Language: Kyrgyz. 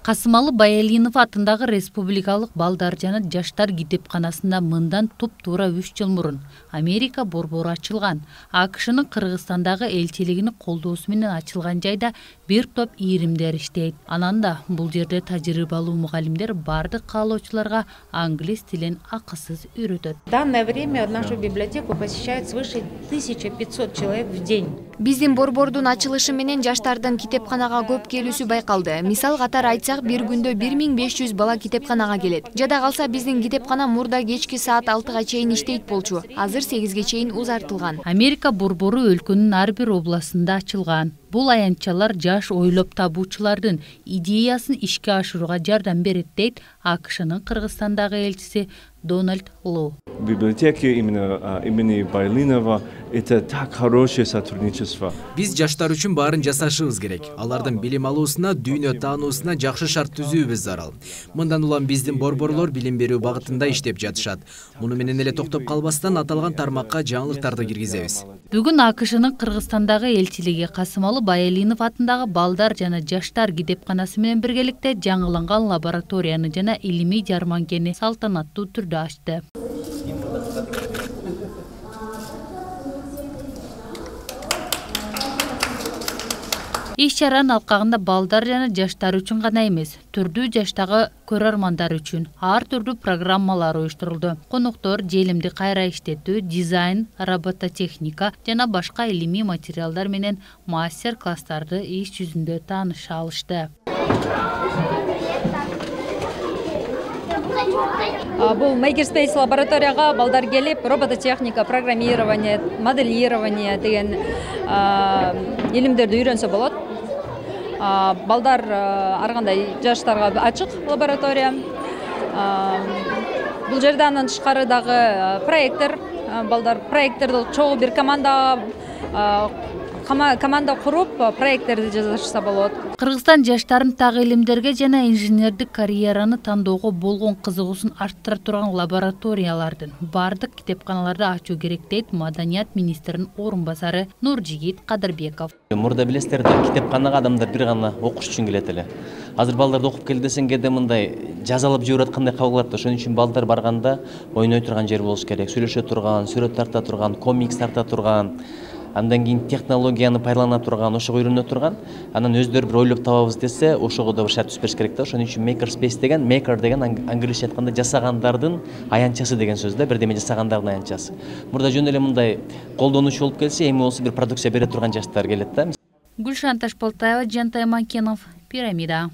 Касымалы Баялинов атындагы Республикалык балдар жана жаштар китепканасында мындан туп-туура 3 жыл мурун Америка борбору ачылган. АКШнын Кыргызстандагы элчилигинин колдоосу менен ачылган жайда бир топ ийримдер иштейт. Анан да бул жерде тажрыйбалуу мугалимдер бардык каалоочуларга англис тилин акысыз үйрөтөт. В данное время нашу библиотеку посещает свыше 1500 человек в день. Биздин борбордун ачылышы менен жаштардын китепканага көп келүүсү байкалды. Мисал катары айтсак, бир күндө 1500 бала китепканага келет. Жада калса биздин китепкана мурда кечки саат 6-га чейин иштейт болчу. Азыр 8-ге чейин узартылган. Америка борбору өлкөнүн ар бир областында ачылган. Бул аянтчалар жаш ойлоп табуучулардын идеясын ишке ашырууга жардам берет дейт АКШнын Кыргызстандагы элчиси Дональд Лоу. Библиотеки имени Баялинова это так хорошее сотрудничество. Биз жаштар үчүн баарын жасашыбыз керек. Алардын билим алуусуна, дүйнө таануусуна жакшы шарт түзүүбүз зарыл. Мындан улам биздин борборлор билим берүү багытында иштеп жатышат. Муну менен эле токтоп калбастан аталган тармакка жаңылыктарды киргизебиз. Бүгүн АКШнын Кыргызстандагы элчилиги Касымалы Баялинов атындагы балдар жана жаштар китепканасы менен биргеликте жаңыланган лабораторияны жана илимий жарманкени салтанаттуу түрдө ачты. Иш чаранын алкагында балдар жана жаштар үчүн гана эмес, түрдүү жаштагы көрөрмандар үчүн ар түрдүү программалар уюштурулду. Коноктор желимди кайра иштетүү, дизайн, робототехника жана башка илимий материалдар менен мастер-класстарды иш жүзүндө тааныша алышты. Бул Makerspace лабораторияга балдар келип, робототехника, программирование, моделирование деген илимдерди үйрөнсө болот. Балдар ар кандай жаштарга ачык лаборатория. Бул жерде андан тышкары дагы проектор, балдар проекторду чогуу бир команда куруп проекттерди жасашса болот. Кыргызстан жаштарын так илимдерге жана инженердик карьераны тандоого болгон кызыгуусун арттыра турган лабораториялардын бардык китепканаларды ачуу керек дейт Маданият министринин орун басары Нуржигит Кадырбеков. Мурда билесиздер да китепканага адамдар бир гана окуш үчүн келет эле. Азыр балдарды окуп кел десең кээде мындай жазалап жиберет кандай кабыл алат да. Ошон үчүн балдар барганда ойной турган жер болуш керек. Сүйлөшө турган, сүрөт тарта турган, комикс тарта турган. Андан кийин технологияны пайдалана турган, ошого үйрөнө турган, анан өздөрү бир ойлоп табабыз десе, ошого да бир шарт түзүп бериш керек да. Ошон үчүн Makerspace деген, maker деген англисче айтканда жасагандардын аянтчасы деген сөз да, бирдеме жасагандардын аянтчасы. Мурда жөн эле мындай колдонуучу болуп келсе, эми болсо бир продукция бере турган жаштар келет да. Гүлшан Ташполтаева, Жантай Манкенов, Пирамида.